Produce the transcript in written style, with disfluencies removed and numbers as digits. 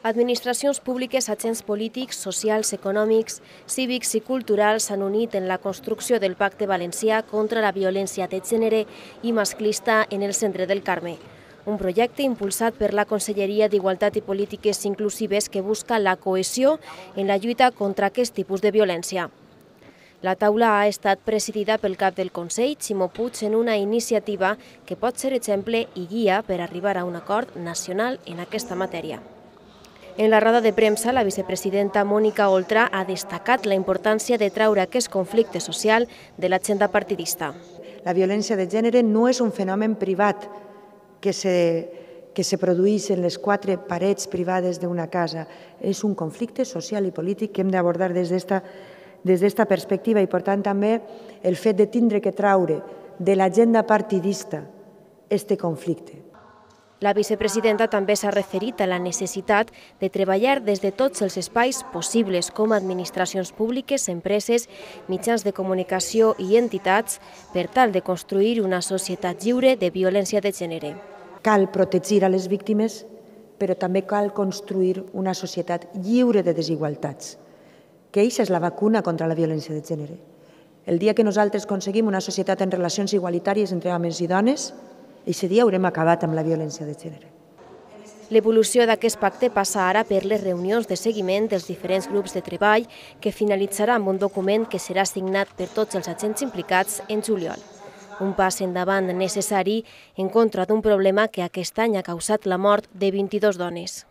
Administracions públiques, agents polítics, socials, econòmics, cívics i culturals s'han unit en la construcció del Pacte Valencià contra la violència de gènere i masclista en el centre del Carme. Un projecte impulsat per la Conselleria d'Igualtat i Polítiques Inclusives que busca la cohesió en la lluita contra aquest tipus de violència. La taula ha estat presidida pel cap del Consell, Ximo Puig, en una iniciativa que pot ser exemple i guia per arribar a un acord nacional en aquesta matèria. En la roda de premsa, la vicepresidenta Mònica Oltra ha destacat la importància de treure aquest conflicte social de l'agenda partidista. La violència de gènere no és un fenomen privat que se produeix en les quatre parets privades d'una casa. És un conflicte social i polític que hem d'abordar des d'esta perspectiva i, per tant, també el fet de tindre que treure de l'agenda partidista este conflicte. La vicepresidenta també s'ha referit a la necessitat de treballar des de tots els espais possibles, com administracions públiques, empreses, mitjans de comunicació i entitats, per tal de construir una societat lliure de violència de gènere. Cal protegir a les víctimes, però també cal construir una societat lliure de desigualtats, que aquesta és la vacuna contra la violència de gènere. El dia que nosaltres aconseguim una societat en relacions igualitàries entre homes i dones, aquest dia haurem acabat amb la violència de gènere. L'evolució d'aquest pacte passa ara per les reunions de seguiment dels diferents grups de treball que finalitzarà amb un document que serà signat per tots els agents implicats en juliol. Un pas endavant necessari en contra d'un problema que aquest any ha causat la mort de 22 dones.